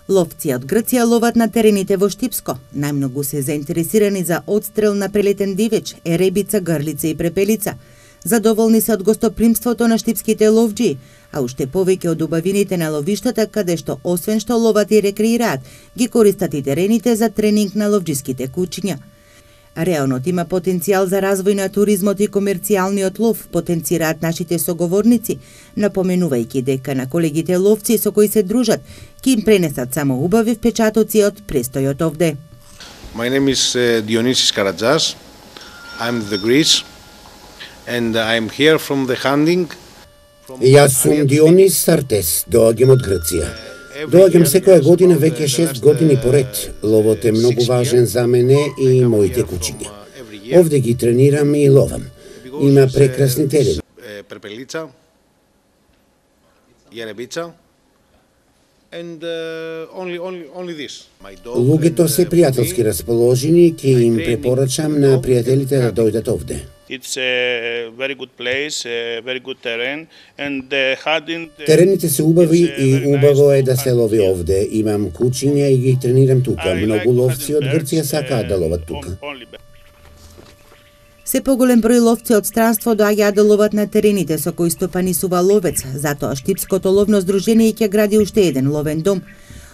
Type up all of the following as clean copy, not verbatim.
Ловци од Грција ловат на терените во Штипско. Најмногу се заинтересирани за одстрел на прелетен дивеч, еребица, грлица и препелица. Задоволни се од гостопримството на штипските ловџи, а уште повеќе од убавините на ловиштата, каде што освен што ловат и рекреираат, ги користат и терените за тренинг на ловџиските кучиња. Реонот има потенцијал за развој на туризмот и комерцијалниот лов, потенцираат нашите соговорници, напоменувајќи дека на колегите ловци со кои се дружат, ќе им пренесат само убави впечатоци од престојот овде. My name is Dionysis Karatzas. I'm the Greece and I'm here from the hunting. Јас сум Дионис Сартес, доаѓам од Грција. Доаѓам секоја година веќе 6 години поред. Ловот е многу важен за мене и моите кучиња. Овде ги тренирам и ловам. Има прекрасни терени. Препелица, јеребица, and only this. Луѓето се пријателски расположени, ќе им препорачам на пријателите да дојдат овде. It's a very good place, a very good terrain, and the hunting. Терените се убави и убаво е да се лови овде. Имам кучиња и ги тренирам тука. Многу ловци од Грција сакаат да ловат тука. Се поголем број ловци од странство доаѓаат да ловат на терените со кои стопанисува ловец, затоа Штипското ловно здружение ќе гради уште еден ловен дом.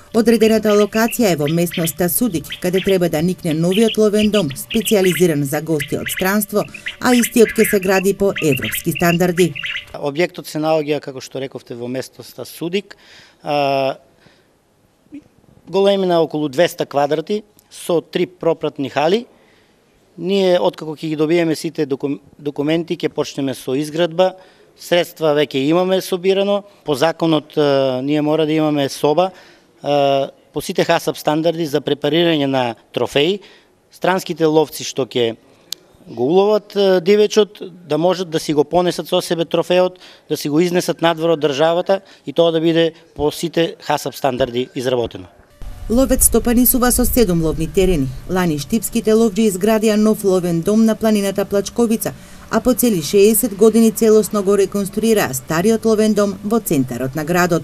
Одредената локација е во местноста Судик, каде треба да никне новиот ловен дом, специјализиран за гости од странство, а истиот ќе се гради по европски стандарди. Објектот се наоѓа, како што рековте, во местноста Судик. Големина околу 200 квадрати, со 3 пропратни хали. Ние, откако ќе ги добиеме сите документи, ќе почнеме со изградба. Средства веќе имаме собирано. По законот ние мора да имаме соба по сите ХАСАП стандарди за препарирање на трофеи. Странските ловци што ќе го уловат дивечот, да можат да си го понесат со себе трофеот, да си го изнесат надвор од државата и тоа да биде по сите ХАСАП стандарди изработено. Ловец стопанисува со 7 ловни терени. Лани штипските ловџи изградија нов ловен дом на планината Плачковица, а по цели 60 години целосно го реконструираа стариот ловен дом во центарот на градот.